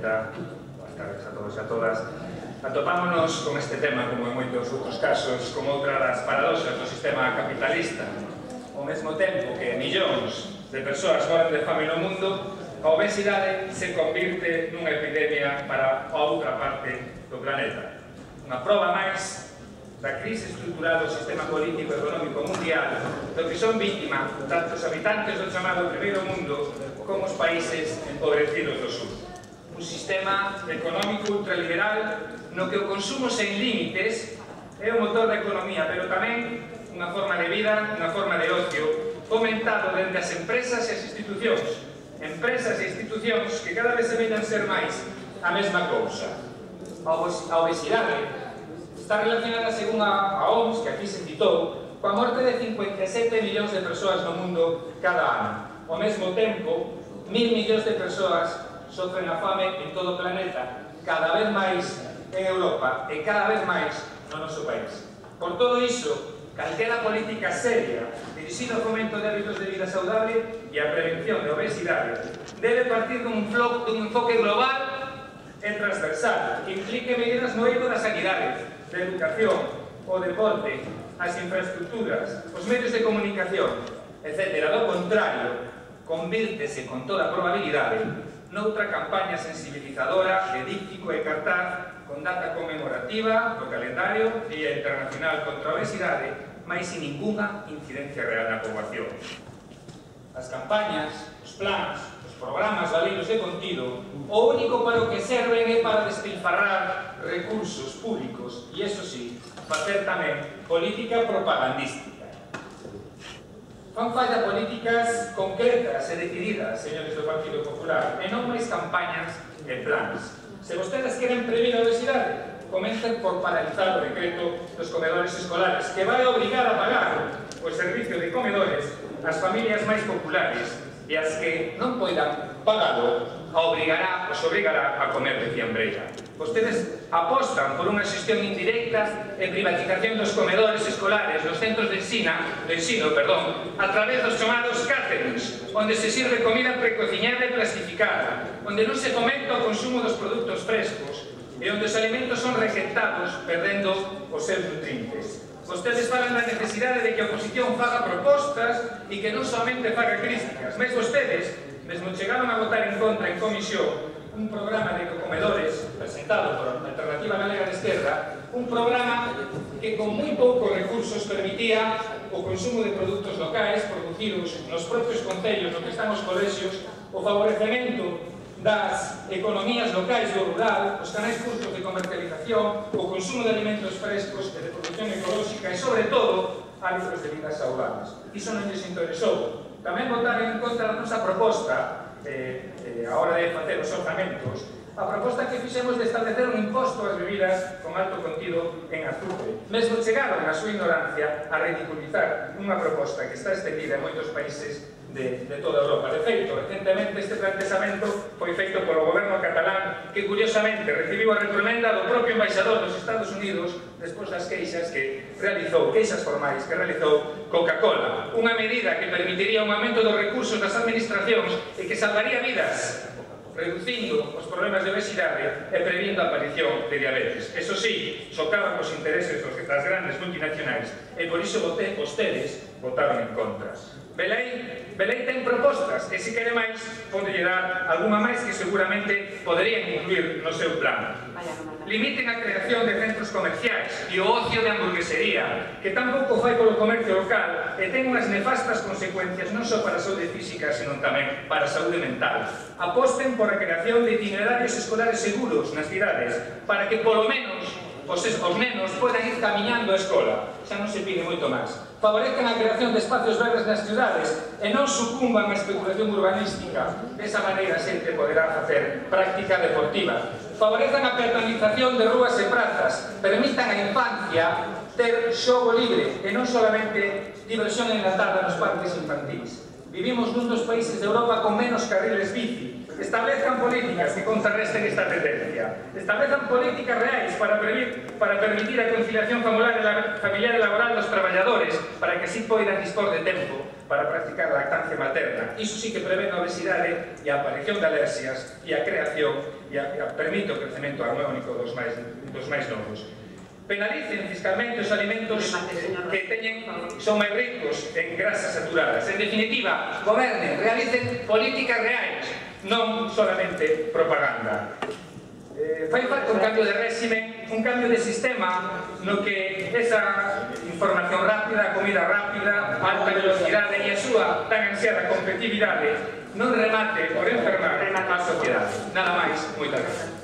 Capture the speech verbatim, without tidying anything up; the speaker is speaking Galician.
presidenta, boas tardes a todos e a todas. Atopámonos con este tema, como en moitos outros casos, como outra das paradoxas do sistema capitalista. Ao mesmo tempo que millóns de persoas moran de fame no mundo, a obesidade se convirte nunha epidemia para a outra parte do planeta. Unha proba máis da crise estrutural do sistema político e económico mundial, do que son víctimas tanto os habitantes do chamado primeiro mundo como os países empobrecidos do sur. Un sistema económico ultraliberal no que o consumo sen límites é o motor da economía, pero tamén unha forma de vida, unha forma de ocio, fomentado dende as empresas e as institucións. Empresas e institucións que cada vez se veñan ser máis a mesma cousa. A obesidade está relacionada, según a O M S, que aquí se citou, coa morte de cincuenta e sete millóns de persoas no mundo cada ano. Ao mesmo tempo, mil millóns de persoas sofren a fame en todo o planeta, cada vez máis en Europa e cada vez máis no noso país. Por todo iso, calquera política seria dirixida ao fomento de hábitos de vida saudable e a prevención de obesidade debe partir dun enfoque global e transversal que implique medidas no eido da sanidade, da educación, o deporte, as infraestructuras, os medios de comunicación, etcétera. Do contrario, convírtese con toda probabilidade noutra campaña sensibilizadora de díptico e cartaz con data conmemorativa do calendario Día Internacional contra a Obesidade, mais sin ninguna incidencia real na poboación. As campañas, os plans, os programas valeiros de contido, o único para o que serven é para despilfarrar recursos públicos e, eso sí, facer tamén política propagandística. Fan falta políticas concretas e decididas, señores do Partido Popular, e non máis campañas e plans. Se vostedes queren previr a obesidade, comecen por paralizar o decreto dos comedores escolares, que vai obrigar a pagar o servicio de comedores ás familias máis populares e as que non poidan pagalo, a obrigará, os obrigará a comer de fiambreira. Vostedes apostan por unha xestión indirecta e privatización dos comedores escolares nos centros de ensino, de ensino, perdón, a través dos chamados caterings, onde se sirve comida precociñada e plastificada, onde non se fomenta o consumo dos produtos frescos e onde os alimentos son rexectados perdendo os seus nutrientes. Vostedes falan da necesidade de que a oposición faga propostas e que non somente faga críticas, mas vostedes mesmo chegaron a votar en contra en comisión un programa de comedores presentado por a Alternativa Galega de Esquerra, un programa que con moi poucos recursos permitía o consumo de produtos locais producidos nos propios concellos no que están os colexios, o favorecemento das economías locais do rural, os canais curtos de comercialización, o consumo de alimentos frescos e de produción ecolóxica e, sobre todo, hábitos de vida saudables. Iso non lles interesou. Tamén votaron en contra da nosa proposta Eh, eh, a hora de facer os orzamentos, a proposta que fixemos de establecer un imposto ás bebidas con alto contido en azúcar. Mesmo chegaron a súa ignorancia a ridiculizar unha proposta que está extendida en moitos países de, de toda Europa. De feito, recentemente este planteamento foi feito polo goberno catalán, que curiosamente recibiu a reprimenda do propio embaixador dos Estados Unidos despois das queixas que realizou, queixas formais que realizou Coca-Cola. Unha medida que permitiría un aumento dos recursos das administracións e que salvaría vidas, reducindo os problemas de obesidade e previndo a aparición de diabetes. Eso sí, socaban os intereses das grandes multinacionais e por iso vostedes votaron en contra. Belén, Belén ten propostas e se quere máis, pode dar algunha máis que seguramente poderían incluir no seu plan. Limiten a creación de centros comerciais e o ocio de hamburguesería, que tampouco fai polo comercio local e ten unhas nefastas consecuencias non só para a saúde física, senón tamén para a saúde mental. Aposten por a creación de itinerarios escolares seguros nas cidades, para que polo menos os, os nenos podan ir camiñando á escola. Xa non se pide moito máis. Favorezcan a creación de espacios verdes nas cidades e non sucumban á especulación urbanística. Desa maneira a xente poderá facer práctica deportiva. Favorezcan a peatonización de rúas e prazas. Permitan a infancia ter xogo libre e non solamente diversión enlatada nos parques infantis. Vivimos nun dos países de Europa con menos carriles bici. Establezcan políticas que contrarresten esta tendencia. Establezcan políticas reais para, previr, para permitir a conciliación familiar e laboral dos traballadores, para que así poidan dispor de tempo para practicar a lactancia materna. Iso sí que prevén a obesidade e a aparición de alerxias e a creación e a, a permite o crecemento harmónico dos máis, dos máis novos. Penalicen fiscalmente os alimentos que teñen, son máis ricos en grasas saturadas. En definitiva, gobernen, realicen políticas reais, non solamente propaganda. Eh, fai falta un cambio de réxime, un cambio de sistema no que esa información rápida, comida rápida, alta velocidade e a súa tan ansiada competitividade non remate por enfermar a sociedade. Nada máis, moitas gracias.